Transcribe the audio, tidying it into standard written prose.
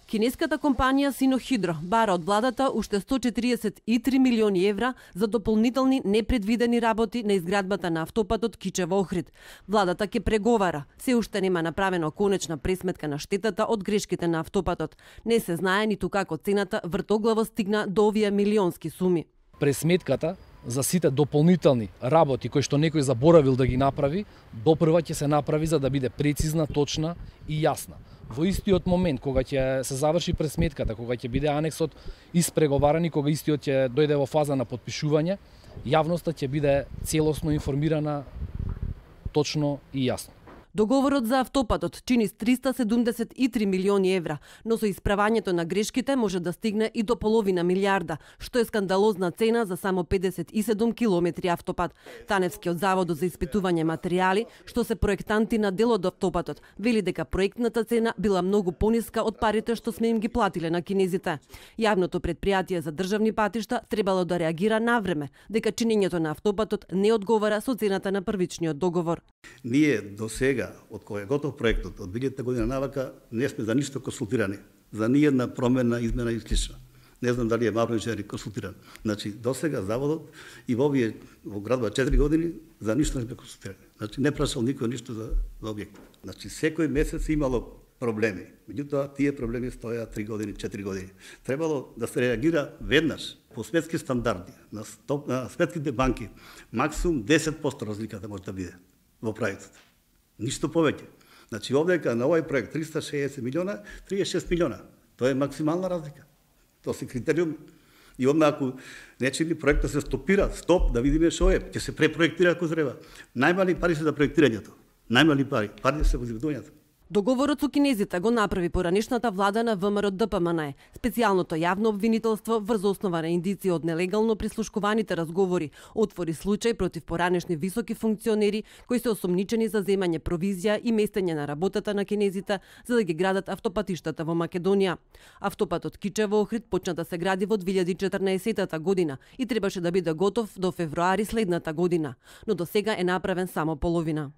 Кинеската компанија Синохидро бара од владата уште 143 милиони евра за дополнителни непредвидени работи на изградбата на автопатот Кичево-Охрид. Владата ќе преговара. Се уште нема направено конечна пресметка на штетата од грешките на автопатот. Не се знае ниту како цената вртоглаво стигна до овие милионски суми. Пресметката за сите дополнителни работи кои што некој заборавил да ги направи, допрва ќе се направи за да биде прецизна, точна и јасна. Во истиот момент кога ќе се заврши пресметката, кога ќе биде анексот испреговаран и кога истиот ќе дојде во фаза на потпишување, јавноста ќе биде целосно информирана, точно и јасно. Договорот за автопатот чини 373 милиони евра, но со исправањето на грешките може да стигне и до половина милиарда, што е скандалозна цена за само 57 километри автопат. Таневскиот завод за испитување материјали, што се проектанти на дел од автопатот, вели дека проектната цена била многу пониска од парите што сме им ги платиле на кинезите. Јавното претпријатие за државни патишта требало да реагира навреме, дека чинењето на автопатот не одговара со цената на првичниот договор. Ние до сега, од кој е готов проектот, од 2000 година навака, не сме за ништо консултирани. За ниједна промена, измена и слично. Не знам дали е Мавро инженер консултиран. Значи, до сега заводот и во градба 4 години за ништо не сме консултирани. Значи, не прашал никој ништо за објектот. Значи, секој месец имало проблеми. Меѓутоа, тие проблеми стоја 3 години, 4 години. Требало да се реагира веднаш по светски стандарди, на светските банки. Максимум 10% разликата може да биде во проектот. Ништо повеќе. Значи, овдека на овој проект 360 милиона, 36 милиона. Тоа е максимална разлика. Тоа се критериум. И одма ако нечини проектот се стопира, стоп, да видиме што е, ќе се препроектира ако треба. Најмали пари се за проектирањето. Најмали пари. Пари се во изведувањето. Договорот со кинезите го направи поранешната влада на ВМРО ДПМН. Специјалното јавно обвинителство врз основа на индици од нелегално прислушкуваните разговори отвори случај против поранешни високи функционери кои се осомничени за земање провизија и местење на работата на кинезите за да ги градат автопатиштата во Македонија. Автопатот Кичево-Охрид почна да се гради во 2014 година и требаше да биде готов до февруари следната година, но до сега е направен само половина.